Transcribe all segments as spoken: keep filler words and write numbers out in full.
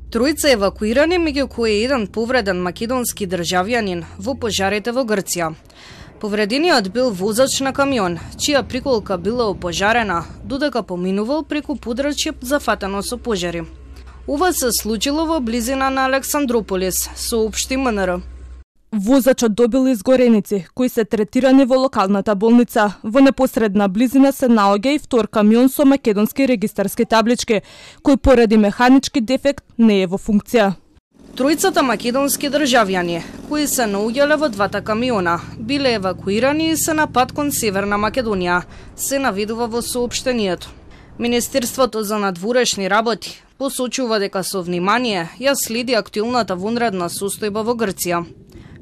Тројца евакуирани, меѓу кои еден повреден македонски државјанин во пожарите во Грција. Повредениот бил возач на камион, чија приколка била опожарена, додека поминувал преку подрачје зафатено со пожари. Ова се случило во близина на Александрополис, соопшти М Н Р. Возачот добил изгореници, кои се третирани во локалната болница. Во непосредна близина се наоѓа и втор камион со македонски регистарски таблички, кој поради механички дефект не е во функција. Тројцата македонски државјани, кои се наоѓале во двата камиона, биле евакуирани и се на пат кон Северна Македонија, се наведува во соопштенијето. Министерството за надворешни работи посочува дека со внимание ја следи актуелната вонредна состојба во Грција.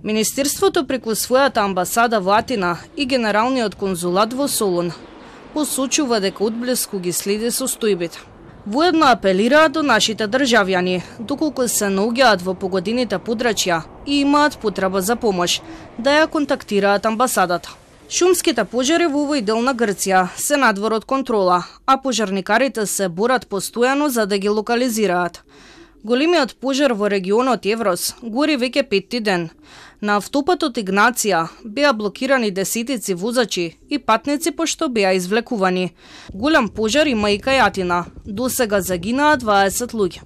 Министерството преку својата амбасада во Атина и Генералниот конзулат во Солун посочува дека одблиску ги следи состојбите. Воедно апелираат до нашите државјани, доколку се наоѓаат во погодените подрачја и имаат потреба за помош, да ја контактираат амбасадата. Шумските пожари во овој дел на Грција се надвор од контрола, а пожарникарите се борат постојано за да ги локализираат. Големиот пожар во регионот Еврос гори веќе петти ден. На автопатот Игнација беа блокирани десетици возачи и патници пошто беа извлекувани. Голем пожар има и кај Атина. Досега загинаа дваесет луѓе.